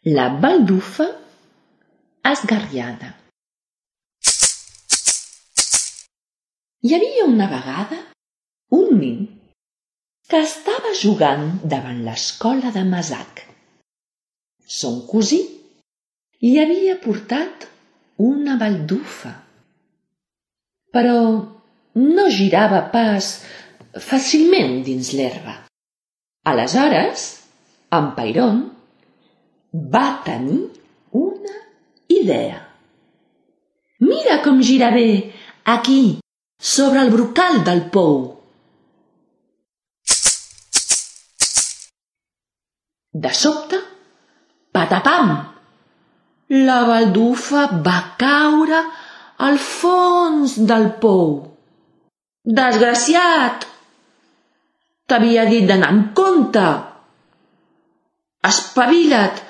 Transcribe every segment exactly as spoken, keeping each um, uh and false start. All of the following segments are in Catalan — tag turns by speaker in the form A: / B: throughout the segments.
A: La baldufa esgarriada. Hi havia una vegada un nin que estava jugant davant l'escola de Masac. Son cosí li havia portat una baldufa, però no girava pas fàcilment dins l'herba. Aleshores, en Pairon va tenir una idea. Mira com gira bé aquí, sobre el brocal del pou. De sobte, patapam! La baldufa va caure al fons del pou. Desgraciat! T'havia dit d'anar amb compte. Espavila't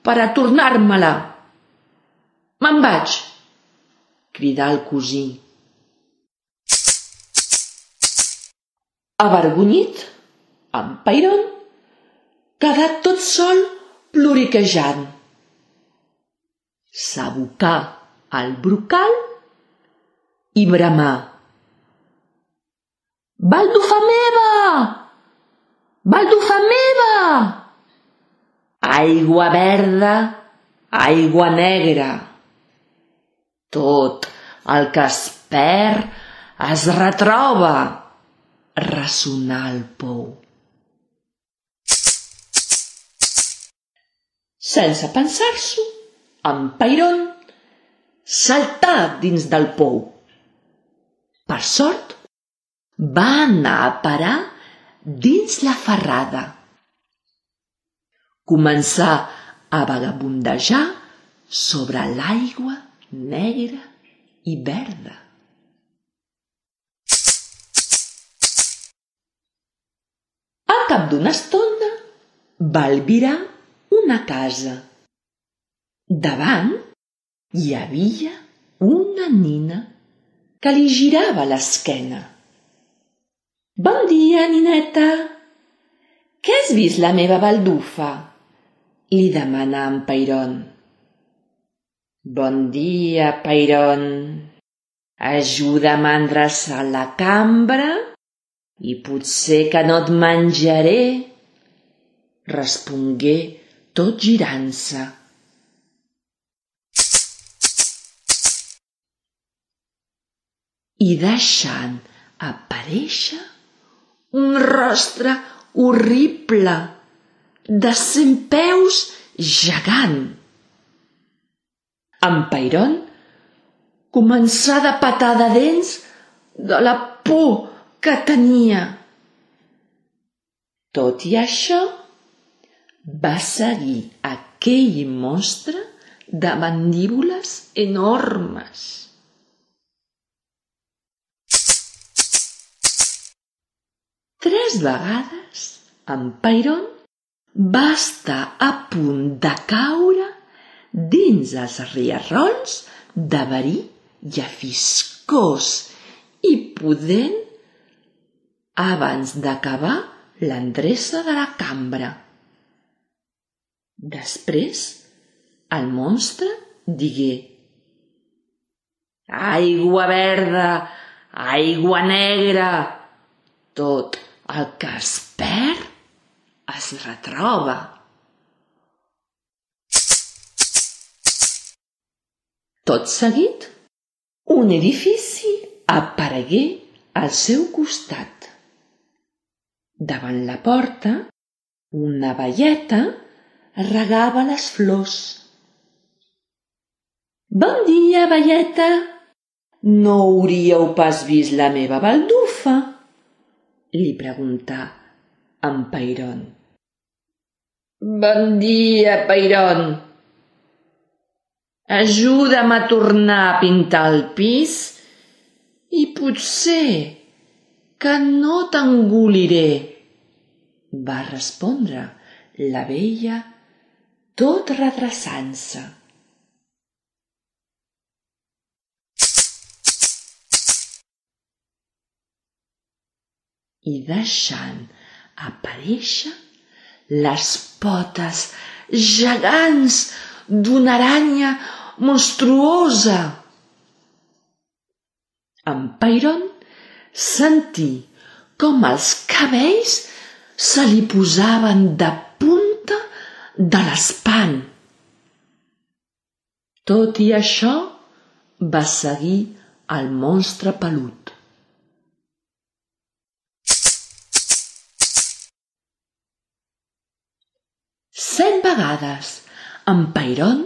A: per a tornar-me-la. Me'n vaig, cridà el cosí. Avergonyit, en Pairon quedà tot sol ploriquejant. S'abocà al brocal i bramà. Baldufa meva! Baldufa meva! Aigua verda, aigua negra. Tot el que es perd es retroba, ressonà el pou. Sense pensar-s'ho, en Pairon saltà dins del pou. Per sort, va anar a parar dins la ferrada. Començà a vagabundejar sobre l'aigua negra i verda. Al cap d'una estona va albirar una casa. Davant hi havia una nina que li girava l'esquena. Bon dia, nineta. Què has vist la meva baldufa? Li demanà en Pairon. Bon dia, Pairon. Ajuda'm a endreçar la cambra i potser que no et menjaré, respongué tot girant-se. I deixant aparèixer un rostre horrible de cent peus gegant. En Pairon començà de petar de dents de la por que tenia. Tot i això, va seguir aquell monstre de mandíbules enormes. Tres vegades en Pairon va estar a punt de caure dins els rierols de verí llephiscós i pudent abans d'acabar l'endreça de la cambra. Després, el monstre digué: Aigua verda, aigua negra, tot el que es perd es retroba. Tot seguit, un edifici aparegué al seu costat. Davant la porta, una veieta regava les flors. Bon dia, veieta! No hauríeu pas vist la meva baldufa? Li preguntà en Pairon. Bon dia, Pairon! Ajuda'm a tornar a pintar el pis i potser que no t'engoliré, va respondre la vella tot redreçant-se. I deixant aparèixer les potes gegants d'una aranya monstruosa. En Pairon sentí com els cabells se li posaven de punta de l'espant. Tot i això, va seguir el monstre pelut. Set vegades en Pairon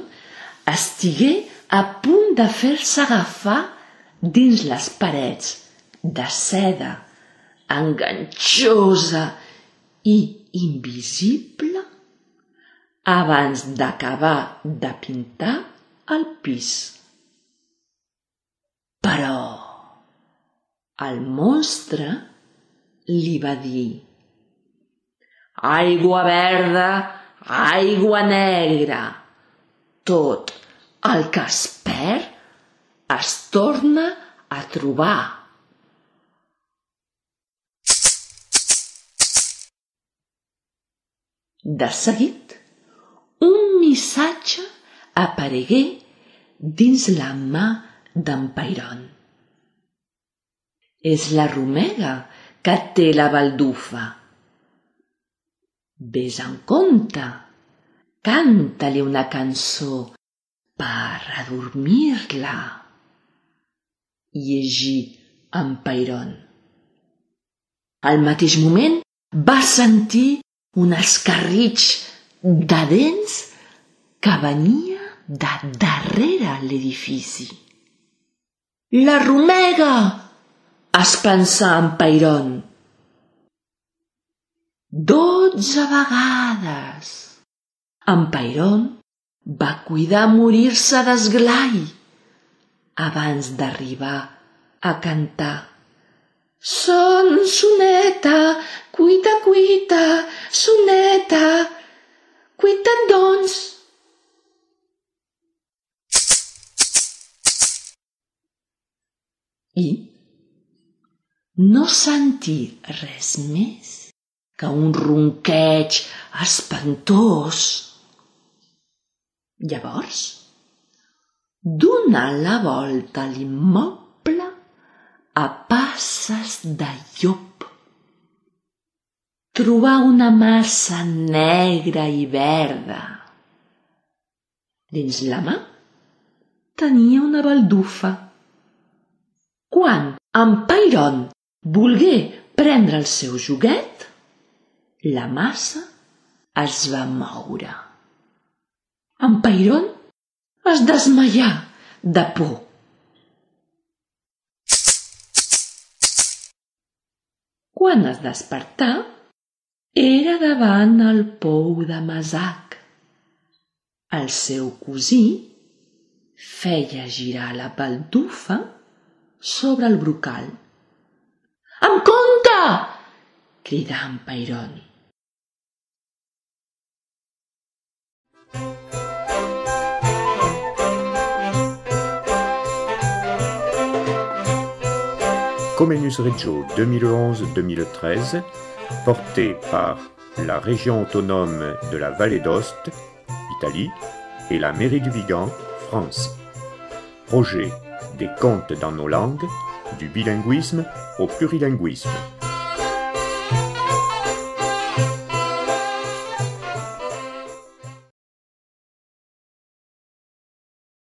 A: estigué a punt de fer-se agafar dins les parets de seda enganxosa i invisible abans d'acabar de pintar el pis. Però el monstre li va dir: aigua verda, aigua negra, tot el que es perd es torna a trobar. De seguit, un missatge aparegué dins la mà d'en Pairon. És la romega que té la baldufa. Ves en compte, canta-li una cançó per adormir-la. Llegí en Pairon. Al mateix moment va sentir un escarritx de dents que venia de darrere l'edifici. La romega! Es pensà en Pairon. Dotze vegades. En Pairon va cuidar morir-se d'esglai abans d'arribar a cantar: son soneta, cuita, cuita, soneta, cuita't doncs. I no sentir res més que un ronqueig espantós. Llavors, donà la volta a l'immoble a passes de llop. Trobà una massa negra i verda. Dins la mà tenia una baldufa. Quan en Pairon volgué prendre el seu joguet, la massa es va moure. En Pairon es desmaià de por. Quan es despertà, era davant el pou de Masac. El seu cosí feia girar la baldufa sobre el brocal. Amb compte! Cridà en Pairon.
B: Comenius Regio deux mille onze deux mille treize, porté par la région autonome de la Vallée d'Aoste, Italie, et la mairie du Vigan, France. Projet des contes dans nos langues, du bilinguisme au plurilinguisme.